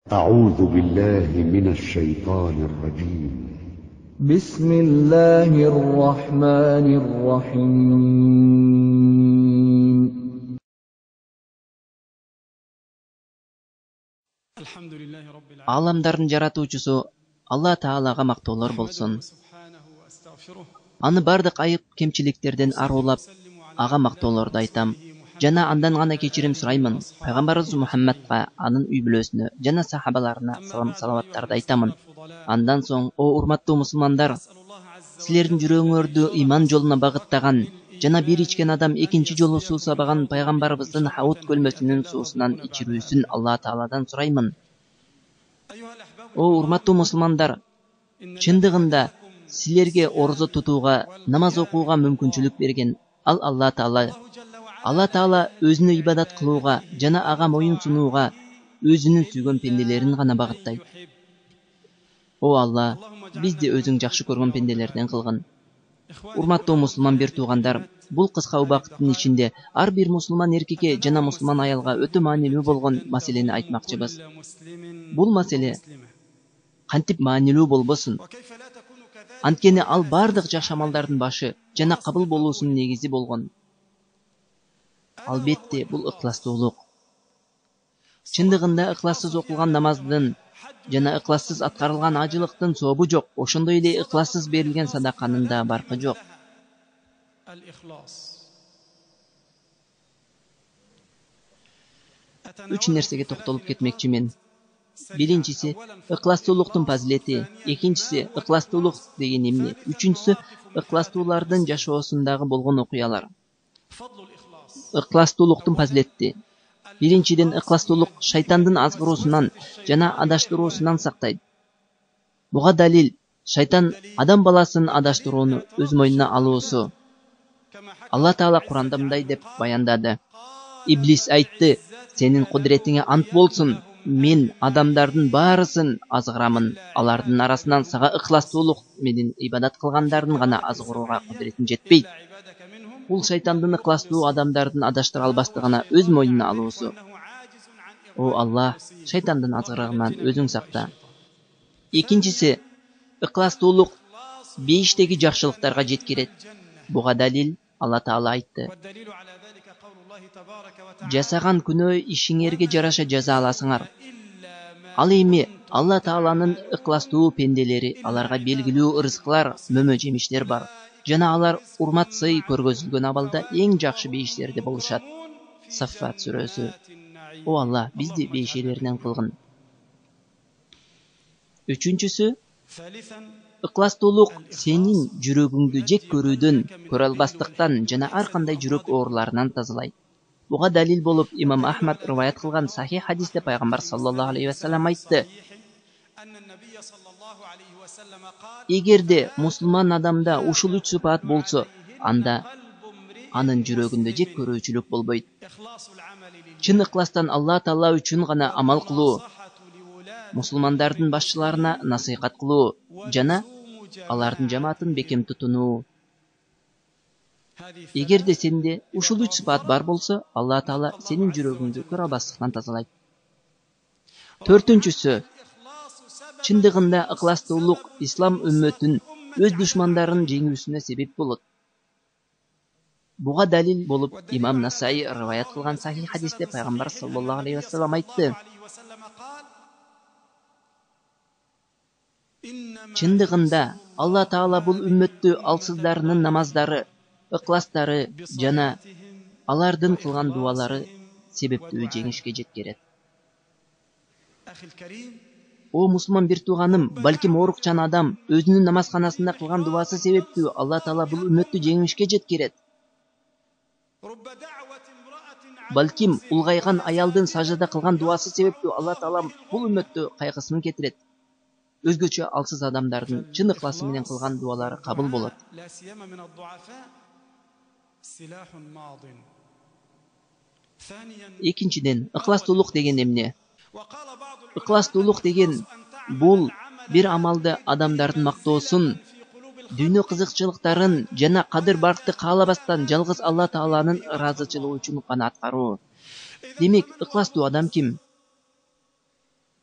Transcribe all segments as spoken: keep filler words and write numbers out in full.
أعوذ بالله من الشيطان الرجيم. بسم الله الرحمن الرحيم. Аламдардын жаратуучусу Алла Таалага мактоолор болсун. Аны бардык айып кемчиликтерден арулап, ага мактоолорду айтам. Жана андан гана кечирим сураймын. Пайгамбарыбыз Мухаммадка, анын үй бүлөсүнө жана сахабаларына салам салаваттарды айтамын. Андан соң, о урматтуу мусулмандар, силердин жүрөгүңөрдү иман жолуна багыттаган жана бир ичкен адам экинчи жолу суу сабаган пайгамбарыбыздын Хаут көлмөсүнүн суусунан ичирүүсүн Алла Тааладан сураймын. О урматтуу мусулмандар, чындыгында силерге орозо тутууга, намаз окууга мүмкүнчүлүк берген ал Алла Таала. Алла Таала өзүнө ибадат кылууга жана ага моюн сунууга өзүнүн сүйгөн пенделерин гана багыттайт. О Алла, бизди өзүң жакшы көргөн пенделерден кылгын. Урматтуу мусулман бир туугандар, бул кыска убакыттын ичинде ар бир мусулман эркекке жана мусулман аялга өтө маанилүү болгон маселени айтмакчыбыз. Бул маселе кантип маанилүү болбосун? Анткени ал бардык жакшы амалдардын башы жана кабыл болуусунун негизи болгон. Албетте, бул ыкластуулук. Чындыгында ыклассыз окулган намаздын жана ыклассыз аткарылган ажылыктын сообу жок. Ошондой эле ыклассыз берилген садаканын да баркы жок. Үч нерсеге токтолуп кетмекчимин. Биринчиси ыкластуулуктун фазилети, экинчиси ыкластуулук деген эмне, үчүнчүсү ыкластуулардын жашоосундагы болгон окуялар. Ыкластуулуктун фазилети. Биринчиден, ыкластуулук шайтандын азгыруусунан жана адаштыруусунан сактайт. Буга далил шайтан адам баласын адаштырууну өз мойнуна алуусу. Алла Таала Куранда мындай деп баяндады: Иблис айтты: "Сенин кудретиңе ант болсун, мен адамдардын баарысын азгырамын. Алардын арасынан сага ыкластуулук менен ибадат кылгандардын гана азгырууга кудретим жетпейт." Бул шайтандын ыкластуу адамдардын адаштыра албастыгына өз мойнуна алуусу. О Алла, шайтандын азгырыгынан өзүң сакта. Экинчиси, ыкластуулук бейиштеги жакшылыктарга жеткирет. Буга далил Алла Таала айтты: "Жасаган күнөө ишиңерге жараша жаза аласыңар." Ал эми Алла Тааланын ыкластуу пенделери, аларга белгилүү ырыскылар, мөмө жемиштер бар. Жана алар урмат сый көргөзүлгөн абалда эң жакшы бейиштерде болушат. Саффат сүрөсү. О Алла, бизди бейишелеринен кылгын. Үчүнчүсү, ыкластуулук сенин жүрөгүңдү жек көрүүдөн, көрө албастыктан жана ар кандай жүрөк ооруларынан тазалайт. Буга далил болуп имам Ахмад риваят кылган сахих хадисте пайгамбар саллаллаху алейхи ва саллям айтты: "Эгерде мусулман адамда ушул үч сыпат болсо, анда анын жүрөгүндө жек көрүүчүлүк болбойт. Чын ыкластан Алла Таала үчүн гана амал кылуу, мусулмандардын башчыларына насыйхат кылуу жана алардын жамаатын бекем тутунуу. Эгерде сенде ушул үч сыпат бар болсо, Алла Таала сенин жүрөгүңдү көрө албастыктан тазалайт." Төртүнчүсү, чындыгында ыкластуулук ислам үммөтүн өз душмандарын жеңүүсүнө себеп болот. Буга далил болуп имам Насаи риваят кылган сахих хадисте пайгамбар саллаллаху алейхи ва саллям айтты: "Чындыгында Алла Таала бул үммөттү алсыздарынын намаздары, ыкластары жана алардын кылган дуалары себептүү жеңишке жеткирет." О мусулман бир тууганым, балким оорукчан адам өзүнүн намазканасында кылган дуасы себептүү Алла Таала бул үммөттү жеңишке жеткирет. Балким улгайган аялдын саждада кылган дуасы себептүү Алла Таала бул үммөттү кайгысын кетирет. Өзгөчө алсыз адамдардын чын ыкласы менен кылган дуалары кабыл болот. Экинчиден, ыкластуулук деген эмне? Ыкластуулук деген бул бир амалды адамдардын мактоосун, дүйнө кызыкчылыктарын жана кадыр баркты каалабастан жалгыз Алла Тааланын ыраазычылыгы үчүн гана аткаруу. Демек, ыкластуу адам ким?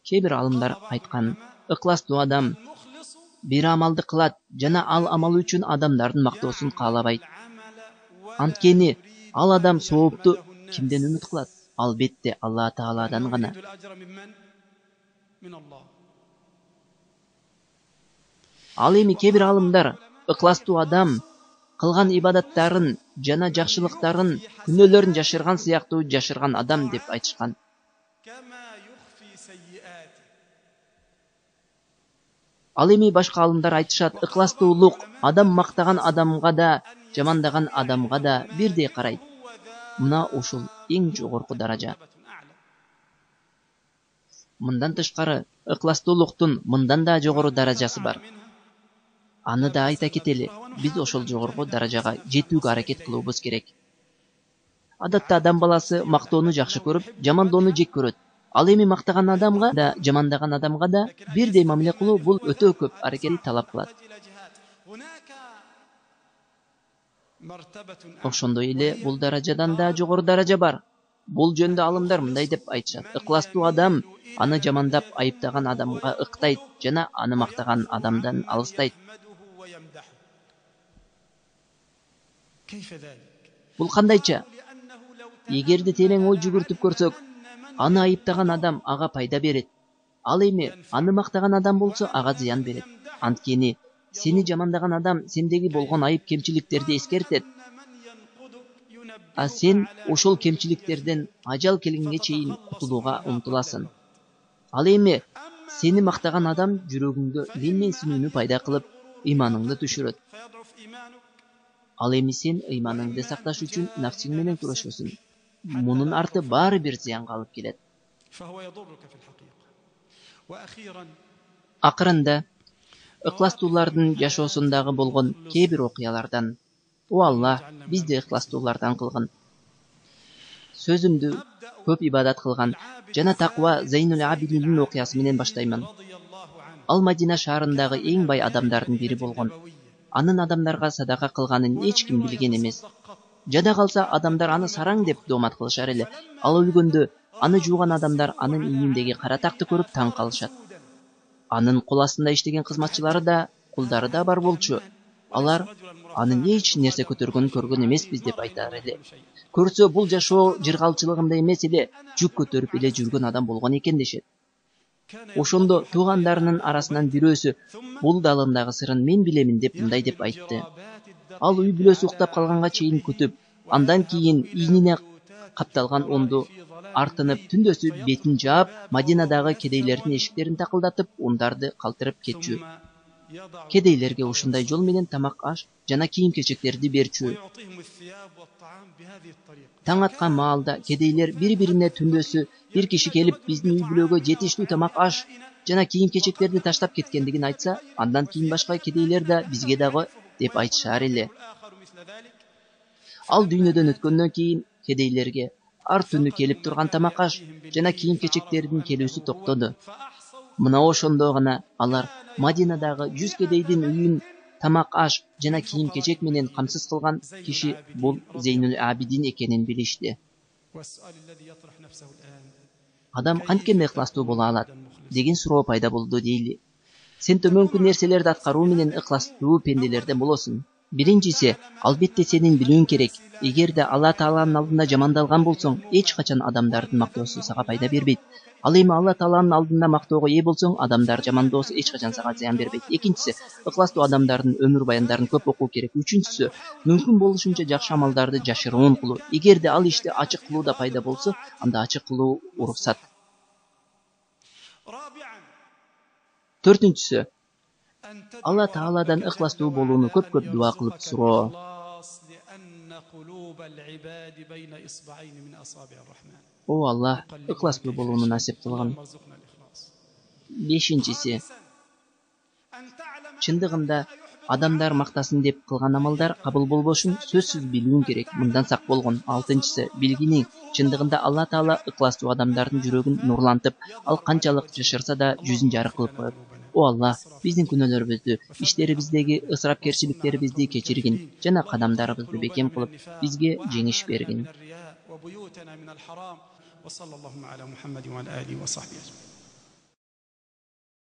Кээ бир алымдар айткан, ыкластуу адам бир амалды кылат жана ал амал үчүн адамдардын мактоосун каалабайт. Анткени ал адам соопту кимден үмүт кылат? Албетте Алла Тааладан гана. Ал эми кээ бир алымдар ыкластуу адам кылган ибадаттарын жана жакшылыктарын, күнөөлөрүн жашырган сыяктуу жашырган адам деп айтышкан. Ал эми башка алымдар айтышат, ыкластуулук адам мактаган адамга да, жамандаган адамга да бирдей карайт. Мына ушул эң жогорку даража. Мындан тышкары, ыкластуулуктун мындан да жогору даражасы бар. Аны да айта кетели, биз ошол жогорку даражага жетүүгө аракет кылуубуз керек. Адатта адам баласы мактоону жакшы көрүп, жамандоону жек көрөт. Ал эми мактаган адамга да, жамандаган адамга да бирдей мамиле кылуу бул өтө көп аракетти талап кылат. Ошондой эле бул даражадан да жогору даража бар. Бул жөндө алымдар мындай деп айтышат: ыкластуу адам аны жамандап айыптаган адамга ыктайт жана аны мактаган адамдан алыстайт. Бул кандайча? Эгерде терең ой жүгүртүп көрсөк, аны айыптаган адам ага пайда берет. Ал эми аны мактаган адам болсо ага зыян берет. Анткени сени жамандаган адам сендеги болгон айып кемчиликтерди эскертет. А сен ошол кемчиликтерден ажал келгенге чейин кутулууга умтуласың. Ал эми сени мактаган адам жүрөгүңдө менменсинүүнү пайда кылып, ыйманыңды түшүрөт. Ал эми сен ыйманыңды сакташ үчүн нафсиң менен күрөшөсүң. Мунун арты баары бир зыянга алып келет. Акырында ыкластуулардын жашоосундагы болгон кээ бир окуялардан: О Аллах, бизди ыкластуулардан кылгын. Сөзүмдү көп ибадат кылган жана таква Зейнуль Абидиндин окуясы менен баштаймын. Ал Мадина шаарындагы эң бай адамдардын бири болгон. Анын адамдарга садака кылганын эч ким билген эмес. Жада калса адамдар аны сараң деп доомат кылышар эле. Ал өлгөндө аны жууган адамдар анын ийиндеги кара такты көрүп таң калышат. Анын кол астында иштеген кызматчылары да, кулдары да бар болчу. Алар анын эч нерсе көтөргөнүн көргөн эмеспиз деп айтар эле. Көрсө бул жашоо жыргалчылыгында эмес эле, жүк көтөрүп эле жүргөн адам болгон экен дешет. Ошондо туугандарынын арасынан бирөөсү бул далындагы сырын мен билемин деп мындай деп айтты. Ал үй бүлөсү уктап калганга чейин күтүп, андан кийин ийнине капталган унду артынып, түндөсү бетин жаап, Мадинадагы кедейлердин эшиктерин такылдатып, ундарды калтырып кетчү. Кедейлерге ушундай жол менен тамак, аш жана кийим-кечектерди берчү. Таң аткан маалда кедейлер бири-бирине түндөсү бир киши келип биздин үй бүлөгө жетиштүү тамак, аш жана кийим-кечектерди таштап кеткендигин айтса, андан кийин башка кедейлер да бизге дагы деп айтышар эле. Ал дүйнөдөн өткөндөн кийин кедейлерге ар түнү келип турган тамак, аш жана кийим-кечектердин келүүсү токтоду. Мына ошондо гана алар Мадинадагы жүз кедейдин үйүн тамак, аш жана кийим-кечек менен камсыз кылган киши бул Зейнуль Абидин экенин билишти. Адам канткенде ыкластуу боло алат деген суроо пайда болду дейли. Сен төмөнкү нерселерди аткаруу менен ыкластуу пенделерден болосуң. Биринчиси, албетте сенин билүүң керек. Эгерде Алла Тааланын алдында жамандалган болсоң, эч качан адамдардын мактоосу сага пайда бербейт. Ал эми Алла Тааланын алдында мактоого ээ болсоң, адамдар жамандоосу эч качан сага зыян бербейт. Экинчиси, ыкластуу адамдардын өмүр баяндарын көп окуу керек. Үчүнчүсү, мүмкүн болушунча жакшы амалдарды жашыруун кылуу. Эгерде ал ишти ачык кылууда пайда болсо, анда ачык кылуу уруксат. Төртүнчүсү, Алла Тааладан ыкластуу болууну көп-көп дуа кылып суроо. О Аллах, ыкластуу болууну насип кылгын. Бешинчиси, чындыгында адамдар мактасын деп кылган амалдар кабыл болбошун сөзсүз билүүң керек. Мындан сак болгон. Алтынчысы, билгиниң чындыгында Алла Таала ыкластуу адамдардын жүрөгүн нурлантып, ал канчалык жашырса да жүзүн жарык кылып коет. О Аллах, биздин күнөөлөрүбүздү, иштерибиздеги ысырапкерчиликтерибизди кечиргин жана кадамдарыбызды бекем кылып, бизге жеңиш бергин.